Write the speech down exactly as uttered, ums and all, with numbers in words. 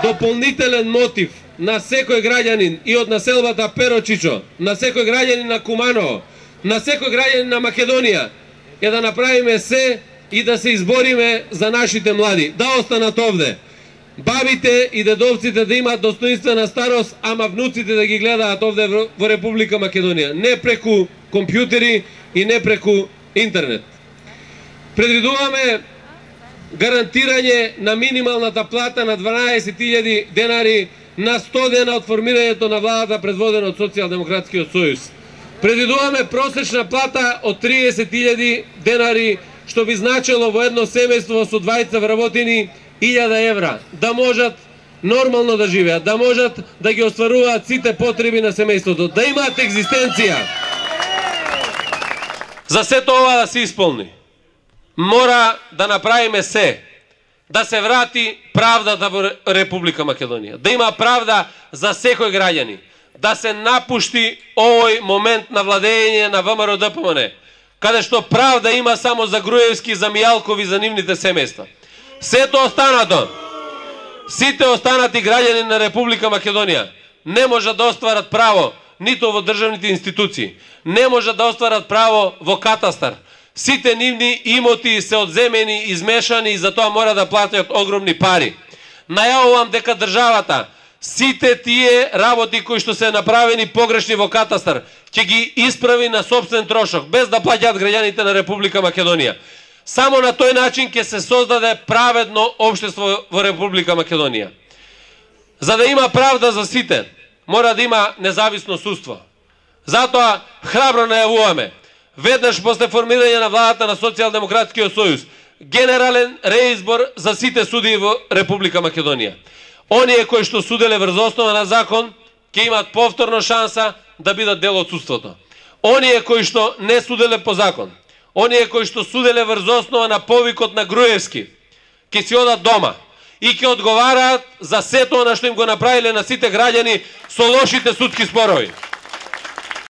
дополнителен мотив на секој граѓанин и од населбата Перочичо, на секој граѓанин на Куманово, на секој граѓанин на Македонија е да направиме се и да се избориме за нашите млади, да останат овде. Бабите и дедовците да имаат достоинствена старост, ама внуците да ги гледаат овде во Република Македонија, не преку компјутери и не преку интернет. Предвидуваме гарантирање на минималната плата на дванаесет илјади денари на сто дена од формирањето на владата предводена од Социјалдемократскиот сојуз. Предвидуваме просечна плата од триесет илјади денари, што би значило во едно семејство со двајца вработени илјада евра, да можат нормално да живеат, да можат да ги остваруваат сите потреби на семејството, да имаат екзистенција. За сето ова да се исполни, мора да направиме се, да се врати правдата во Република Македонија, да има правда за секој граѓани, да се напушти овој момент на владење на ВМРО Д П М Н, каде што правда има само за Груевски, за Мијалкови, за нивните семејства. Сето останато, сите останати граѓани на Република Македонија не можат да остварат право ниту во државните институции, не можат да остварат право во катастар. Сите нивни имоти се одземени, измешани и за тоа мора да платат огромни пари. Најавувам дека државата сите тие работи кои што се направени погрешни во катастар ќе ги исправи на сопствен трошок, без да плаќаат граѓаните на Република Македонија. Само на тој начин ќе се создаде праведно општество во Република Македонија. За да има правда за сите, мора да има независно судство. Затоа храбро најавуваме, веднаш после формирање на владата на Социјалдемократскиот сојуз, генерален реизбор за сите судии во Република Македонија. Оние кои што суделе врз основа на закон, ќе имаат повторно шанса да бидат дел од судството. Оние кои што не суделе по закон, оние кои што суделе врз основа на повикот на Груевски, ќе си одат дома и ќе одговараат за сето она што им го направиле на сите граѓани со лошите судски спорови.